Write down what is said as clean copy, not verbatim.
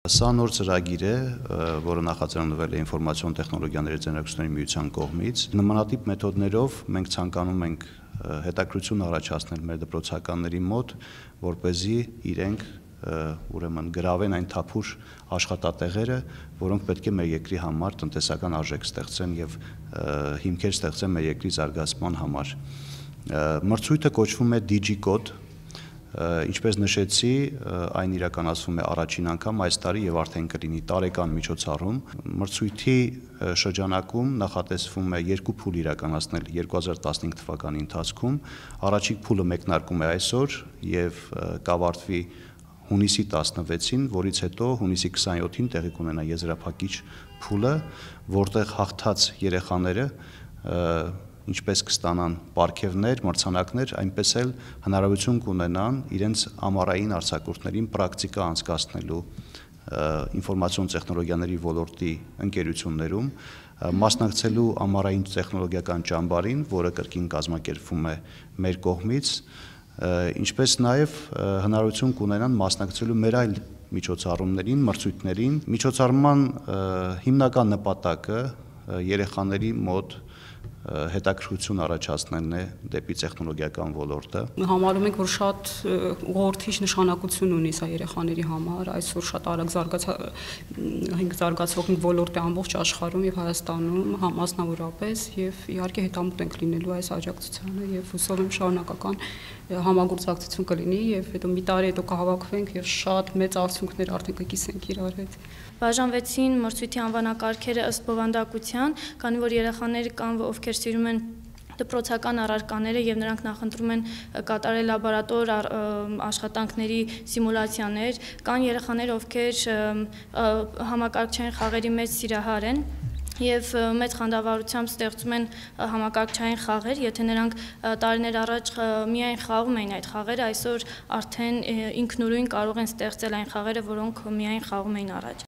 Սա նոր ծրագիր է, որը նախաձեռնվել է ինֆորմացիոն տեխնոլոգիաների ձեռնարկությունների միության կողմից։ Նմանատիպ մեթոդներով մենք ցանկանում ենք հետաքրքրություն առաջացնել մեր դպրոցականների մոտ, որպեսզի իրենք ուրեմն գրավեն այն թափուր աշխատատեղերը, որոնք պետք է մեր երկրի համար տնտեսական արժեք ստեղծեն եւ հիմքեր ստեղծեն մեր երկրի զարգացման համար։ Մրցույթը կոչվում է DigiCode, ինչպես նշեցի, այն իրականացվում է առաջին անգամ այս տարի եւ արդեն կլինի տարեկան միջոցառում։ Մրցույթի շրջանակում նախատեսվում է երկու փուլ իրականացնել 2015 թվականի ընթացքում։ Առաջին փուլը մեկնարկում է այսօր եւ կավարտվի հունիսի 16-ին, որից հետո հունիսի 27-ին տեղի կունենա եզրափակիչ փուլը, որտեղ հաղթած երեխաները ինչպես կստանան պարգևներ, մրցանակներ, այնպես էլ հնարավորություն կունենան իրենց ամառային արձակուրդներին պրակտիկա անցկացնելու ինֆորմացիոն տեխնոլոգիաների ոլորտի ընկերություններում, մասնակցելու ամառային տեխնոլոգիական ճամբարին, որը կրկին կազմակերպվում է մեր կողմից, ինչպես նաև հնարավորություն կունենան մասնակցելու մեր այլ միջոցառումներին, մրցույթներին։ Միջոցառման հիմնական նպատակը երեխաների մոտ հետաքրքրություն առաջացնելն է դեպի տեխնոլոգիական ոլորտը։ Համարում ենք, որ շատ ուղղորդիչ նշանակություն ունի սա երեխաների համար, այսօր շատ արագ զարգացող ոլորտ է ամբողջ աշխարհում եւ Հայաստանում մասնավորապես, եւ իհարկե հետամուտ ենք լինելու այս աջակցությանը եւ հուսով եմ շարունակական համագործակցություն կլինի եւ հետո մի տարի հետո կհավաքվենք եւ շատ մեծ արդյունքներ արդեն կկիսենք իրար հետ։ Բաժանվեցին մրցույթի անվանակարգերը ըստ բովանդակության, քանի որ երեխաներ կան, ովքեր սիրում են դպրոցական առարկաները եւ նրանք նախընտրում են կատարել լաբորատոր աշխատանքների սիմուլյացիաներ, կան երեխաներ, ովքեր համակարգչային խաղերի մեծ սիրահար են եւ մեծ խանդավառությամբ ստեղծում են համակարգչային խաղեր, եթե նրանք տարիներ առաջ միայն խաղում էին այդ խաղերը, այսօր արդեն ինքնուրույն կարող են ստեղծել այն խաղերը, որոնք միայն խաղում էին առաջ։